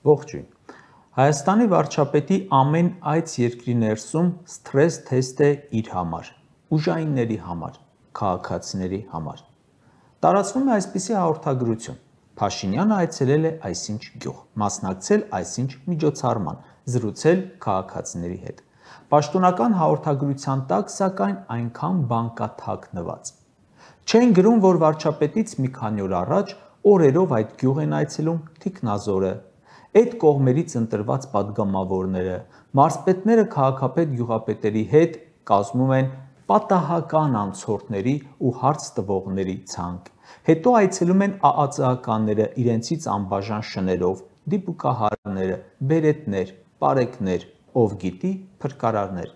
Ողջույն։ Հայաստանի վարչապետի ամեն այց երկրի ներսում սթրես թեստ է իր համար, ուժայինների համար, քաղաքացիների համար։ Տարածվում է այսպիսի հաղորդագրություն. Փաշինյանը այցելել է այսինչ գյուղ, մասնակցել այսինչ միջոցառման, զրուցել քաղաքացիների հետ։ Պաշտոնական հաղորդագրության տակ, սակայն այնքան բան կա թաքնված։ Չեն գրում, որ վարչապետից մի քանի օր առաջ օրերով այդ գյուղ են այցելում թիկնազորը, այդ կողմերից ընտրված պատգամավորները, մարզպետները քաղաքապետ գյուղապետերի հետ կազմում են պատահական անցորդների ու հարց տվողների ցանկ, հետո այցելում են ԱԱԾ-ականները իրենցից անբաժան շներով, դիպուկահարները, բերետներ, պարեկներ, ով գիտի փրկարարներ,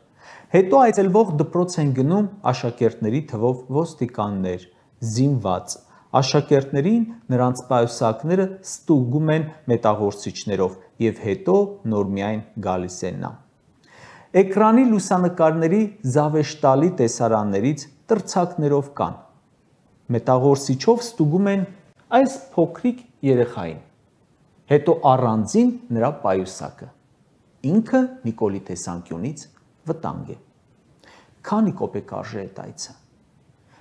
հետո այցելվող դպրոց են գնում աշակերտների թվով ոստիկաններ, զինված, աշակերտներին նրանց պայուսակները ստուգում են մետաղորսիչներով և հետո նոր միայն գալիս են նա։ Էկրանի լուսանկարների զավեշտալի տեսարաններից տրցակներով կան։ Մետաղորսիչով ստուգում են այս փոքրիկ երեխային, հետո առանձին նրա պայուսակը, ինքը Նիկոլի տեսանկյունից վտանգ է։ Քանի կոպեկ արժե այդ այցը։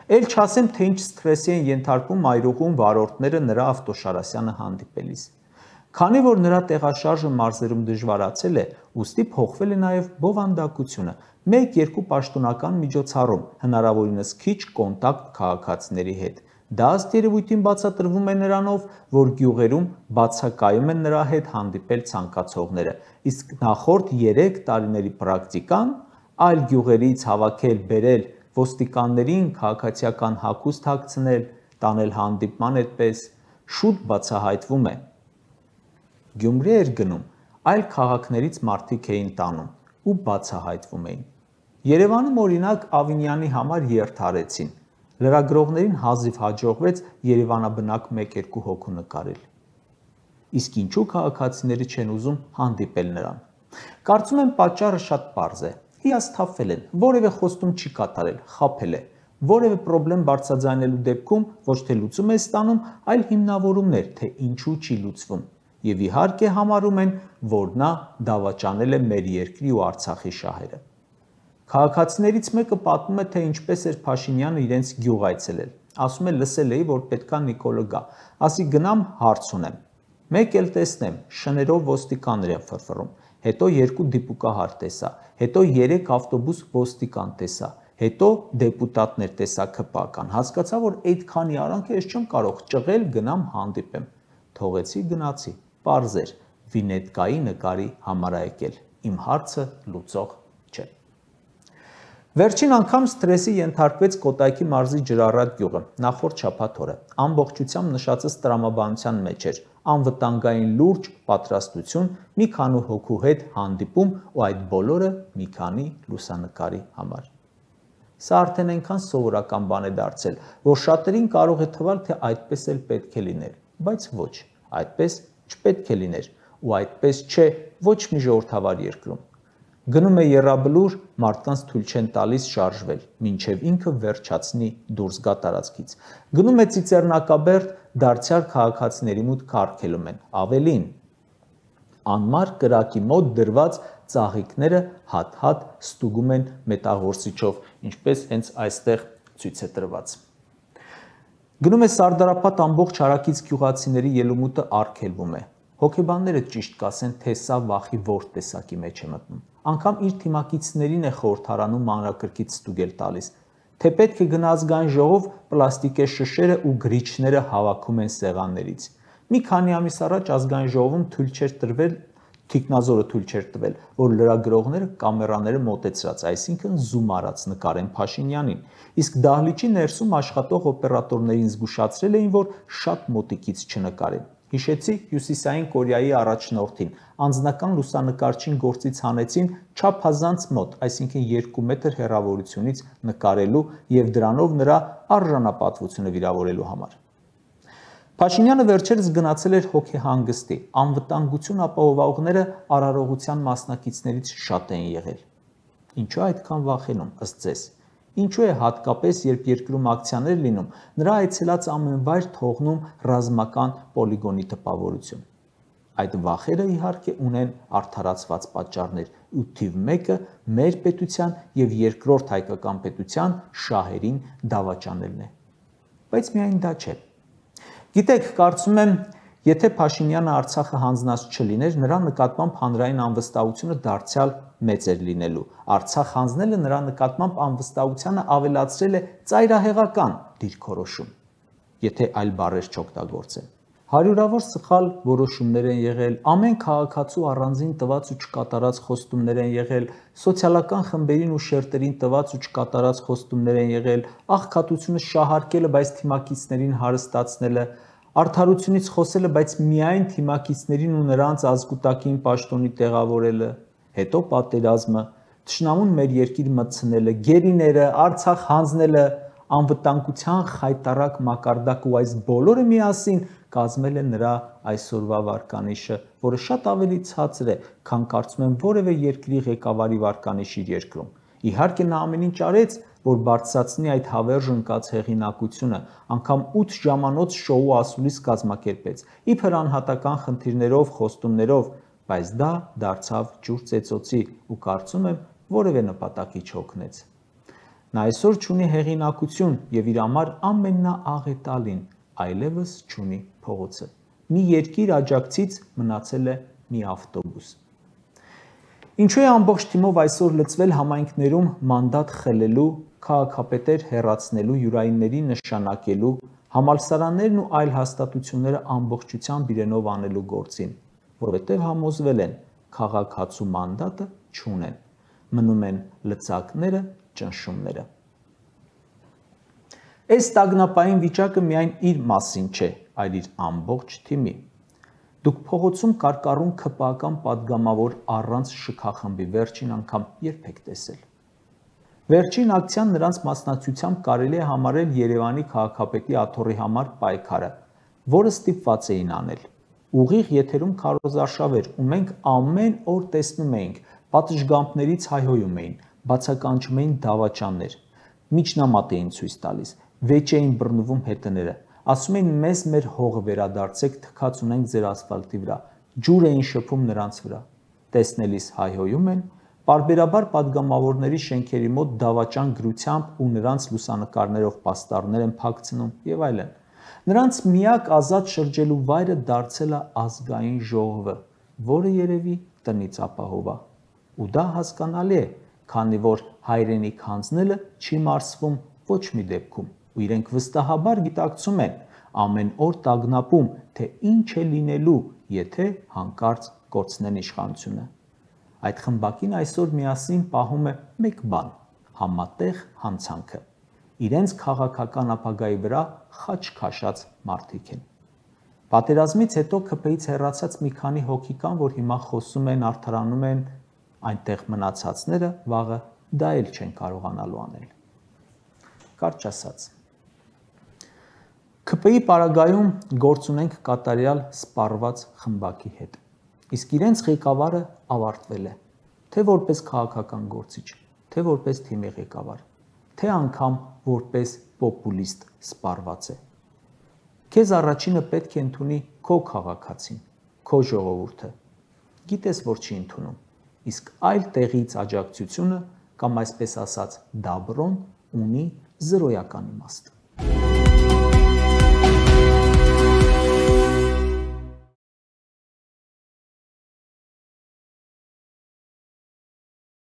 Էլ չասեմ, թե ինչ սթրեսի են ենթարկվում մայրուղում վարորդները նրա ավտոշարասյանը հանդիպելիս։ Քանի որ նրա տեղաշարժը մարզերում դժվարացել է, ուստի փոխվել է նաև բովանդակությունը, 1-2 պաշտոնական միջոցառում, հնարավորինս քիչ կոնտակտ քաղաքացիների հետ։ Դա ըստ երևույթին բացատրվում է նրանով, որ գյուղերում բացակայում են նրա հետ հանդիպել ցանկացողները, իսկ նախորդ 3 տարիների պրակտիկան այլ գյուղերից հավաքել, բերել, ոստիկաններին քաղաքացիական հագուստ հագցնել, տանել հանդիպման այդպես, շուտ բացահայտվում է։ Գյումրի էր գնում, այլ քաղաքներից մարդիկ էին տանում ու բացահայտվում էին։ Երևանում օրինակ Ավինյանի համար երթ արեցին, լրագրողներին հազիվ հաջողվեց երևանաբնակ 1-2 հոգու նկարել։ Իսկ ինչու քաղաքացիները չեն ուզում հանդիպել նրան։ Կարծում եմ պատճառը շատ պարզ է, հիասթափվել են, որևէ խոստում չի կատարել, խաբել է, որևէ պրոբլեմ բարձրաձայնելու դեպքում ոչ թե լուծում է ստանում, այլ հիմնավորումներ, թե ինչու չի լուծվում, և իհարկե համարում են, որ նա դավաճանել է մեր երկրի ու Արցախի շահերը։ Քաղաքացիներից մեկը պատմում է, թե ինչպես էր Փաշինյանը իրենց գյուղ այցելել, ասում է լսել էի, որ պետքա Նիկոլը գա, ասի գնամ հարց ունեմ, մեկ էլ տեսնեմ, շներով ոստիկաններ են ֆրֆռում, հետո 2 դիպուկահար տեսա, հետո 3 ավտոբուս ոստիկան տեսա, հետո դեպուտատներ տեսա ՔՊԱ-կան, հասկացա, որ այդքանի արանքը ես չեմ կարող ճղել գնամ հանդիպեմ, թողեցի գնացի, պարզ էր, վինետկայի նկարի համար ա եկել, իմ հարցը լուծող չէ։ Վերջին անգամ սթրեսի ենթարկվեց Կոտայքի մարզի Ջրառատ գյուղը, նախորդ շաբաթ օրը, ամբողջությամբ նշածս տրամաբանության մեջ էր, անվտանգային լուրջ պատրաստություն, մի քանի հոգու հետ հանդիպում ու այդ բոլորը մի քանի լուսանկարի համար։ Սա արդեն այնքան սովորական բան է դարձել, որ շատերին կարող է թվալ, թե այդպես էլ պետք է լիներ, բայց ոչ, այդպես չպետք է լիներ ու այդպես չէ ոչ մի ժողովրդավար երկրում։ Գնում է եռաբլուր, մարդկանց թույլ չեն տալիս շարժվել, մինչև ինքը վերջացնի դուրս գա տարածքից։ Գնում է ծիծեռնակաբերդ, դարձյալ քաղաքացիների մուտք արգելում են, ավելին, անմար կրակի մոտ դրված ծաղիկները հատ-հատ ստուգում են մետաղորսիչով, ինչպես հենց այստեղ ցույց է տրված։ Գնում է Սարդարապատ ամբողջ հարակից գյուղացիների ելումուտը արգելվում է։ Հոգեբանները ճիշտ կասեն, թե սա վախի որ տեսակի մեջ է մտնում։ Անգամ իր թիմակիցներին է խորհրդարանում մանրակրկիտ ստուգել տալիս, թե պետք է գնա ազգային ժողով պլաստիկե շշերը ու գրիչները հավաքում են սեղաններից։ Մի քանի ամիս առաջ ազգային ժողովում թույլ չէր տրվել, թիկնազորը թույլ չէր տվել, որ լրագրողները կամերաները մոտեցրած, այսինքն զում արած նկարեն Փաշինյանին, իսկ դահլիճի ներսում աշխատող օպերատորներին զգուշացրել էին, որ շատ մոտիկից չնկարեն։ Հիշեցի Հյուսիսային Կորեայի առաջնորդին, անձնական լուսանկարչին գործից հանեցին չափազանց մոտ, այսինքն 2 մետր հեռավորությունից նկարելու և դրանով նրա արժանապատվությունը վիրավորելու համար։ Փաշինյանը վերջերս գնացել էր հոգեհանգստի, անվտանգություն ապահովողները արարողության մասնակիցներից շատ են եղել։ Ինչու այդքան վախենում, ըստ ձեզ։ Ինչու է հատկապես, երբ երկրում ակցիաներ լինում, նրա այցելած ամեն վայր թողնում ռազմական պոլիգոնի տպավորություն։ Այդ վախերը իհարկե ունեն արդարացված պատճառներ, ու թիվ 1-ը մեր պետության եւ երկրորդ հայկական պետության շահերին դավաճանելն է։ Բայց միայն դա չէ։ Գիտեք, կարծում եմ, եթե Փաշինյանը Արցախը հանձնած չլիներ, նրա նկատմամբ հանրային անվստահությունը դարձյալ մեծ էր լինելու։ Արցախ հանձնելը նրա նկատմամբ անվստահությանը ավելացրել է ծայրահեղական դիրքորոշում, եթե այլ բառեր չօգտագործեմ։ Հարյուրավոր սխալ որոշումներ են եղել, ամեն քաղաքացու առանձին տված ու չկատարած խոստումներ են եղել, սոցիալական խմբերին ու շերտերին տված ու չկատարած խոստումներ են եղել, աղքատությունը շահարկելը, բայց թիմակիցներին հարստացնելը, արդարությունից խոսելը, բայց միայն թիմակիցներին ու նրանց ազգուտակին պաշտոնի տեղավորելը, հետո պատերազմը, թշնամուն մեր երկիր մտցնելը, գերիները, Արցախ հանձնելը, անվտանգության խայտառակ մակարդակ ու այս բոլորը միասին կազմել է նրա այսօրվա վարկանիշը, որը շատ ավելի ցածր է, քան կարծում եմ որևէ երկրի ղեկավարի վարկանիշ իր երկրում։ Իհարկե նա ամեն ինչ արեց, որ բարձրացնի այդ հավերժ ընկած հեղինակությունը, անգամ 8 ժամանոց շոու ասուլիս կազմակերպեց, իբր անհատական խնդիրներով, խոստումներով, բայց դա դարձավ ջուր ծեծոցի ու կարծում եմ որևէ նպատակի չօգնեց։ Նա այսօր չունի հեղինակություն եւ իր համար ամենաաղետալին այլևս չունի փողոցը։ Մի երկիր աջակցից մնացել է մի ավտոբուս։ Ինչու է ամբողջ թիմով այսօր լծվել համայնքներում մանդատ խլելու, քաղաքապետեր հեռացնելու, յուրայինների նշանակելու, համալսարաններն ու այլ հաստատությունները ամբողջությամբ իրենով անելու գործին, որովհետև համոզվել են քաղաքացու մանդատը չունեն, մնում են լծակները, ճնշումները։ Այս տագնապային վիճակը միայն իր մասին չէ, այլ իր ամբողջ թիմի։ Դուք փողոցում կարկառուն ՔՊԱ-ական պատգամավոր առանց շքախմբի վերջին անգամ երբ եք տեսել։ Վերջին ակցիան նրանց մասնակցությամբ կարելի է համարել Երևանի քաղաքապետի աթոռի համար պայքարը, որը ստիպված էին անել։ Ուղիղ եթերում քարոզարշավ էր, ու մենք ամեն օր տեսնում էինք, պատշգամբներից հայհոյում էին, բացականչում էին դավաճաններ, միջնամատ էին ցույց տալիս, վեճ էին բռնվում հետները, ասում էին մեզ մեր հողը վերադարձեք, թքած ունենք ձեր ասֆալտի վրա, ջուր էին շփում նրանց վրա, տեսնելիս հայհոյում են, պարբերաբար պատգամավորների շենքերի մոտ դավաճան գրությամբ ու նրանց լուսանկարներով պաստառներ են փակցնում եւ այլն։ Նրանց միակ ազատ շրջելու վայրը դարձել է ազգային ժողովը, որը երևի տնից ապահովա։ Ու դա հասկանալի է, քանի որ հայրենիք հանձնելը չի մարսվում ոչ մի դեպքում, ու իրենք վստահաբար գիտակցում են, ամեն օր տագնապում, թե ինչ է լինելու, եթե հանկարծ կորցնեն իշխանությունը։ Այդ խմբակին այսօր միասին պահում է մեկ բան՝ համատեղ հանցանքը։ Իրենց քաղաքական ապագայի վրա խաչ քաշած մարդիկ են։ Պատերազմից հետո ՔՊ-ից հեռացած մի քանի հոգի կան, որ հիմա խոսում են, արդարանում են, այնտեղ մնացածները վաղը դա էլ չեն կարողանալու անել։ Կարճ ասած, ՔՊ-ի պարագայում գործ ունենք կատարյալ սպառված խմբակի հետ, իսկ իրենց ղեկավարը ավարտվել է, թե որպես քաղաքական գործիչ, թե որպես թիմի ղեկավար, թե անգամ որպես պոպուլիստ սպառված է։ Քեզ առաջինը պետք է ընդունի քո քաղաքացին, քո ժողովուրդը, գիտես, որ չի ընդունում, իսկ այլ տեղից աջակցությունը կամ այսպես ասած դաբրոն ունի զրոյական իմաստ։